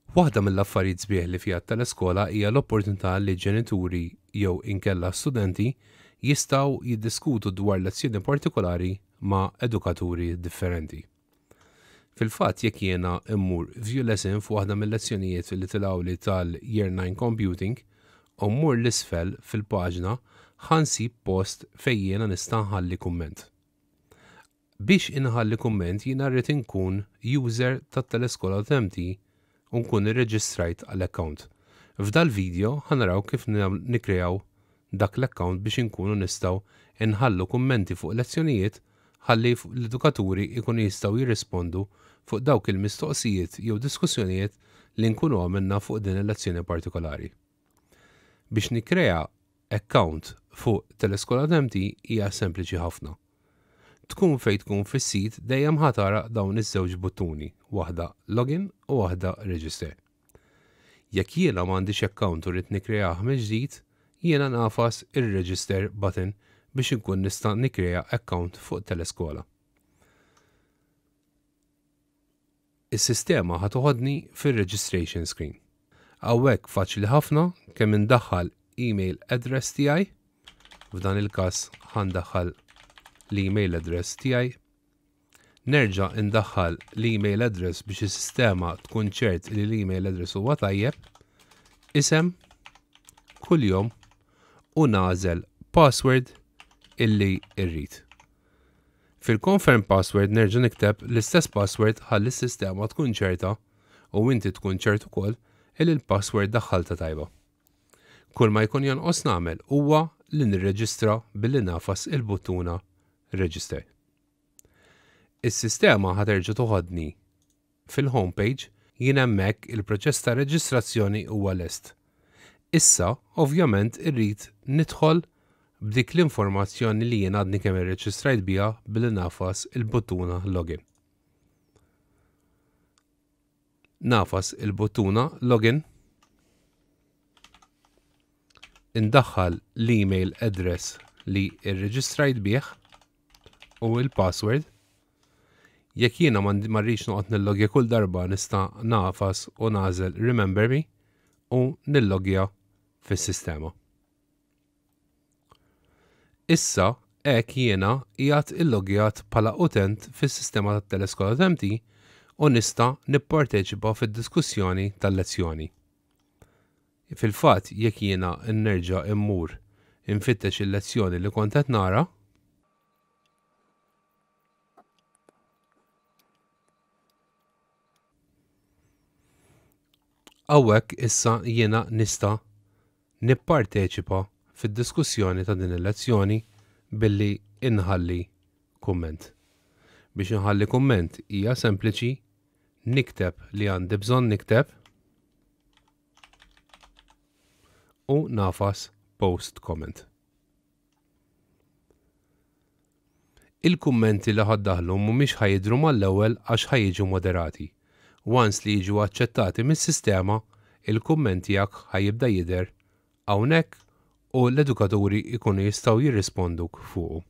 Waħda mill-affarijiet sbieħ li fiha t-teleskola hija l-opportunità li ġenituri jew inkella studenti jistgħu jiddiskutu dwar lezzjoni partikolari ma' edukaturi differenti. Fil-fatt jekk jiena mmur view lesson f'waħda mill-lezzjonijiet li tilgħuli tal-Year 9 Computing u mmur 'l isfel fil-paġna ħa nsib post fejn jiena nista' nħalli kumment. Biex inħalli kumment jiena rrid inkun user tat-teleskola.mt u nkun irreġistrajt għal account. F'dal-video ħa naraw kif nikkreaw dak l-account biex inkunu nistgħu nħallu kummenti fuq lezzjonijiet ħalli l-edukaturi jkunu jistgħu jirrispondu fuq dawk il-mistoqsijiet jew diskussjonijiet li nkunu għamilna fuq din il-lezzjoni partikolari. Biex nikkrea account fuq Teleskola.mt hija sempliċi ħafna. Tkun fejn tkun fis-sit dejjem ħa tara dawn iż-żewġ buttuni, waħda login u waħda register. Jekk jiena m'għandix account u rrid nikkreah mill-ġdid, jiena nagħfas ir-register button biex inkun nista' nikkrea account fuq Teleskola. Is-sistema ħa toħodni fir-registration screen. Hawnhekk faċli ħafna kemm indaħħal email address tiegħi, f'dan il-każ ħa ndaħħal l-email address tiegħi Nerġa' indaħħal l-email address biex is-sistema tkun ċert li l-email address huwa tajjeb, isem, kuljum u nagħżel password illi rrid. Fil-confirm password nerġa' nikteb l-istess password ħalli s-sistema tkun ċerta u inti tkun ċert ukoll illi l-password daħħalta tajba. Kull ma jkun jonqos nagħmel huwa li nirreġistra billi nagħfas il-buttuna Register. Is-sistema ħa terġa' toħodni fil-home page, jien hemmhekk il-proċess ta' reġistrazzjoni huwa lest. Issa, ovvjament irrid nidħol b'dik l-informazzjoni li jien għadni kemm irreġistrajt biha billi nagħfas il-buttuna login. Nagħfas il-buttuna login, indaħħal l-email address li rreġistrajt bih u l-password. Jekk jiena ma rridx noqgħod nillogja kull darba nista' nagħfas u nagħżel remember me u nillogja fis-sistema. Issa hekk jiena qiegħed illoggjat bħala utent fis-sistema tat-Teleskola.mt u nista' nipparteċipa fid-diskussjoni tal-lezzjoni. Fil-fatt jekk jiena nerġa' mmur infittex il-lezzjoni li kont qed nara, Hawnhekk issa jiena nista' nipparteċipa fid-diskussjoni ta' din il-lezzjoni billi inħalli kumment. Biex inħalli kumment hija sempliċi, nikteb li għandi bżonn nikteb u nagħfas post comment. Il-kummenti li ħa ddaħħlu mhumiex ħa jidhru mal-ewwel għax ħa jiġu moderati. Once li jiġu aċċettati mis-sistema, il-kumment tiegħek ħa jibda jidher hawnhekk u l-edukaturi jkunu jistgħu jirrisponduk fuqu.